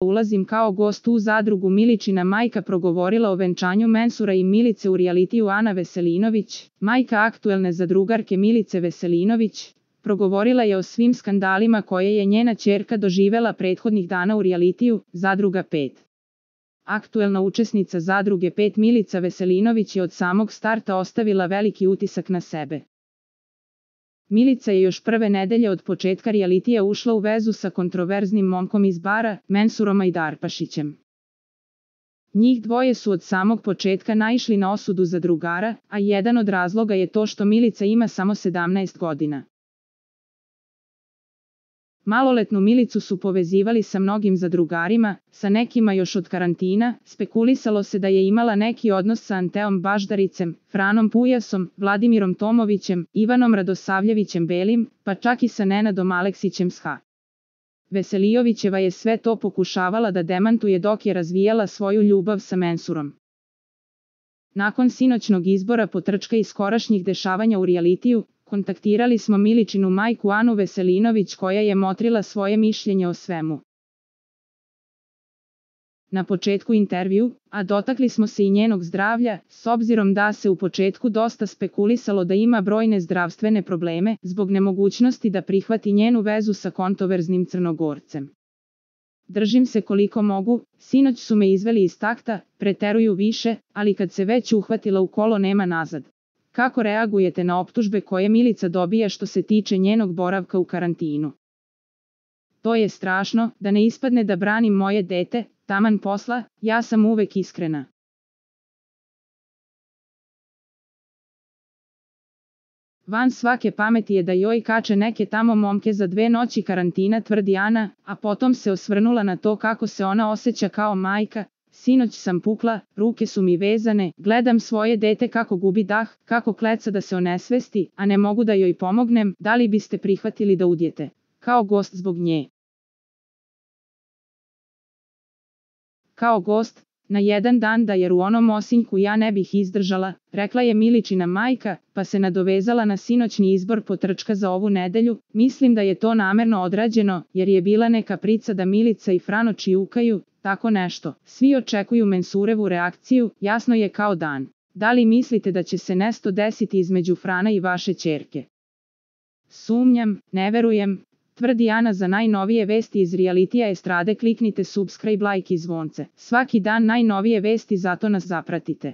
ulazim kao gost u zadrugu. Miličina majka progovorila o venčanju Mensura i Milice u realitiju. Ana Veselinović, majka aktuelne zadrugarke Milice Veselinović, progovorila je o svim skandalima koje je njena ćerka doživela prethodnih dana u realitiju Zadruga 5. Aktuelna učesnica Zadruge 5 Milica Veselinović je od samog starta ostavila veliki utisak na sebe. Milica je još prve nedelje od početka realitija ušla u vezu sa kontroverznim momkom iz bara, Mensurom Ajdarpašićem. Njih dvoje su od samog početka naišli na osudu zadrugara, a jedan od razloga je to što Milica ima samo 17 godina. Maloletnu Milicu su povezivali sa mnogim zadrugarima, sa nekima još od karantina. Spekulisalo se da je imala neki odnos sa Anteom Baždaricem, Franom Pujasom, Vladimirom Tomovićem, Ivanom Radosavljevićem Belim, pa čak i sa Nenadom Aleksićem SH. Veselijovićeva je sve to pokušavala da demantuje dok je razvijala svoju ljubav sa Mensurom. Nakon sinoćnog izbora potrčka i skorašnjih dešavanja u realitiju, kontaktirali smo Miličinu majku Anu Veselinović koja je motrila svoje mišljenje o svemu. Na početku intervju, a dotakli smo se i njenog zdravlja, s obzirom da se u početku dosta spekulisalo da ima brojne zdravstvene probleme, zbog nemogućnosti da prihvati njenu vezu sa kontroverznim Crnogorcem. Držim se koliko mogu, sinoć su me izveli iz takta, preteruju više, ali kad se već uhvatila u kolo nema nazad. Kako reagujete na optužbe koje Milica dobija što se tiče njenog boravka u karantinu? To je strašno, da ne ispadne da branim moje dete, taman posla, ja sam uvek iskrena. Van svake pameti je da joj kače neke tamo momke za 2 noći karantina, tvrdi Ana, a potom se osvrnula na to kako se ona osjeća kao majka. Sinoć sam pukla, ruke su mi vezane, gledam svoje dete kako gubi dah, kako kleca da se onesvesti, a ne mogu da joj pomognem. Da li biste prihvatili da udjete kao gost zbog nje? Kao gost, na jedan dan da jer u onom Osinjku ja ne bih izdržala, rekla je Miličina majka, pa se nadovezala na sinoćni izbor potrčka za ovu nedelju. Mislim da je to namerno odrađeno, jer je bila neka prica da Milica i Frano čijukaju, tako nešto. Svi očekuju Mensurevu reakciju, jasno je kao dan. Da li mislite da će se nešto desiti između Frana i vaše ćerke? Sumnjam, ne verujem, tvrdi Ana. Za najnovije vesti iz realitija estrade kliknite subscribe, like i zvonce. Svaki dan najnovije vesti, zato nas zapratite.